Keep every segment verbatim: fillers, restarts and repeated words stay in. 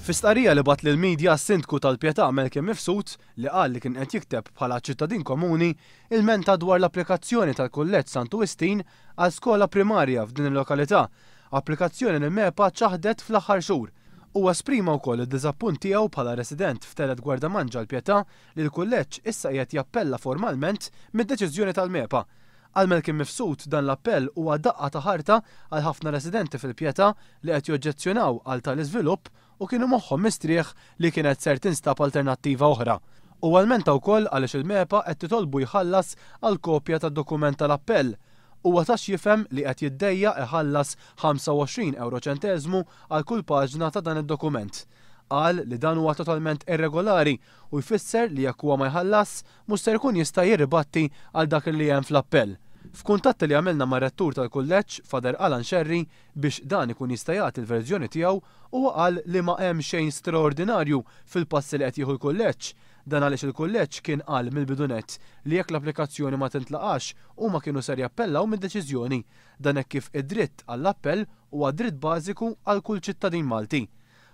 Fi stqarrija li bagħat lill-midja, s-Sindku tal-Pietà Malcolm Mifsud, li qal li kien qed jikteb bħala ċittadin komuni, ilmenta dwar l-applikazzjoni tal-Kulleġġ Santu Wistin għal skola primarja f'din il-lokalità, applikazzjoni li MEPA ċaħdet fl-aħħar xhur. Huwa esprima wkoll id-diżappunt tiegħu bħala resident f'Telgħet Gwardamanġa l-Pietà li l-kulleġġ issa qiegħed jappella formalment mid-deċiżjoni tal-MEPA. Għal Malcolm Mifsud, dan l-appell huwa daqqa ta' ħarta għal ħafna residenti fil-Pietà li qed joġġezzjonaw għal tal-iżvilupp u kienu moħħhom mistrieħ li kienet ser tinstab alternattiva oħra. U lmenta wkoll għaliex il-MEPA qed titolbu jħallas għal kopja tad-dokument tal-appell. Huwa ta x'jifhem li qed jiddejjaq iħallas ħamsa u għoxrin ewro ċenteżmu għal kull paġna ta' dan id-dokument. Qal li dan huwa totalment irregolari u jfisser li jekk huwa ma jħallas, mhux ser ikun jista' jirribatti għal dak li hemm fl-appell. F'kuntatt li għamilna mar-rettur tal-kulleġġ, Father Alan Scerri, biex dan ikun jista' jagħti l-verżjoni tiegħu, huwa qal li ma hemm xejn straordinarju fil-passi li qed jieħu l-kulleġġ. Dan għaliex il-kulleġġ kien qal mill-bidu nett li jekk l-applikazzjoni ma tintlaqax, huma kienu ser jappellaw mid-deċiżjoni. Dan hekk kif id-dritt għall-appell huwa dritt bażiku għal kull ċittadin Malti.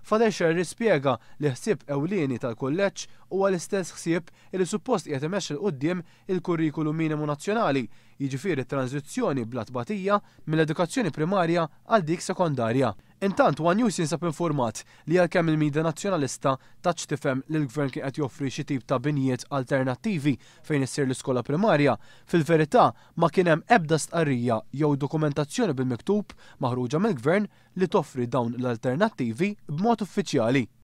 Father Scerri spjega li ħsieb ewlieni tal-kulleġġ huwa l-istess ħsieb li suppost qiegħed imexxi 'l quddiem il-kurrikulu minimu nazzjonali, jiġifieri tranzizzjoni bla tbatija mill-edukazzjoni primarja għal dik sekondarja. Intant, One News jinsab informat li għalkemm il-media nazzjonalista tat x'tifhem li l-gvern kien qed joffri xi tip ta' binjiet alternattivi fejn issir l-iskola primarja, fil-verità ma kien hemm ebda stqarrija jew dokumentazzjoni bil-miktub maħruġa mill-gvern li toffri dawn l-alternattivi b'mod uffiċjali.